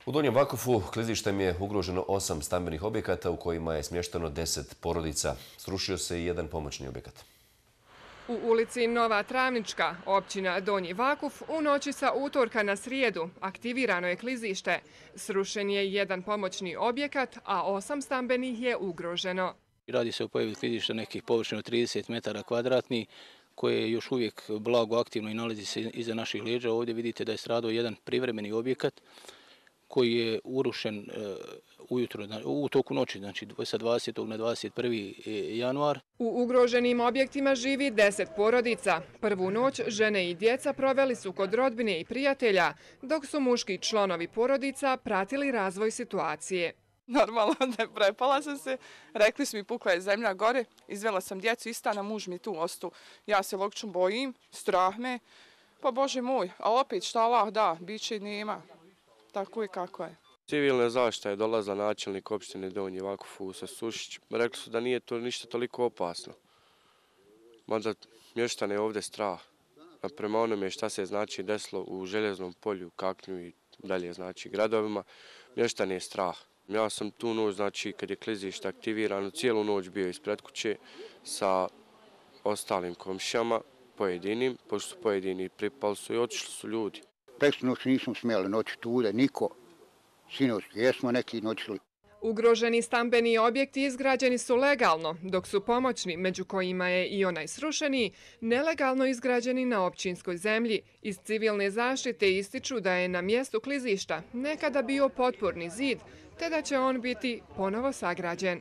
U Donjem Vakufu klizištem je ugroženo 8 stambenih objekata u kojima je smješteno 10 porodica. Srušio se i jedan pomoćni objekat. U ulici Nova Travnička, općina Donji Vakuf, u noći sa utorka na srijedu aktivirano je klizište. Srušen je jedan pomoćni objekat, a 8 stambenih je ugroženo. Radi se o pojavi klizišta nekih površina od 30 metara kvadratnih, koje je još uvijek blago aktivno i nalazi se iza naših leđa. Ovdje vidite da je stradao jedan privremeni objekat koji je urušen ujutro, u toku noći, znači sa 20. na 21. januar. U ugroženim objektima živi 10 porodica. Prvu noć žene i djeca proveli su kod rodbine i prijatelja, dok su muški članovi porodica pratili razvoj situacije. Normalno ne prepala sam se, rekli su mi pukla je zemlja gore, izvela sam djecu iz stana, muž mi tu ostao. Ja se logično bojim, strah me, pa Bože moj, a opet šta Allah da, bit će nema. Tako je kako je. Civilna zaštita je dolazila načelnik opštine Donji Vakuf Fuso Sušić. Rekli su da nije to ništa toliko opasno. Mada mještane je ovdje strah. A prema onome šta se znači desilo u Željeznom polju, Kaknju i dalje znači gradovima, mještane je strah. Ja sam tu noć, znači kad je klizište aktivirano, cijelu noć bio ispred kuće sa ostalim komšijama, pojedinim, pošto su pojedini pripali su i otišli su ljudi. Preksnu noć nismo smjeli noći tude, niko. Sinoć jesmo neki noćili. Ugroženi stambeni objekti izgrađeni su legalno, dok su pomoćni, među kojima je i onaj srušeni, nelegalno izgrađeni na općinskoj zemlji. Iz civilne zaštite ističu da je na mjestu klizišta nekada bio potporni zid, te da će on biti ponovo sagrađen.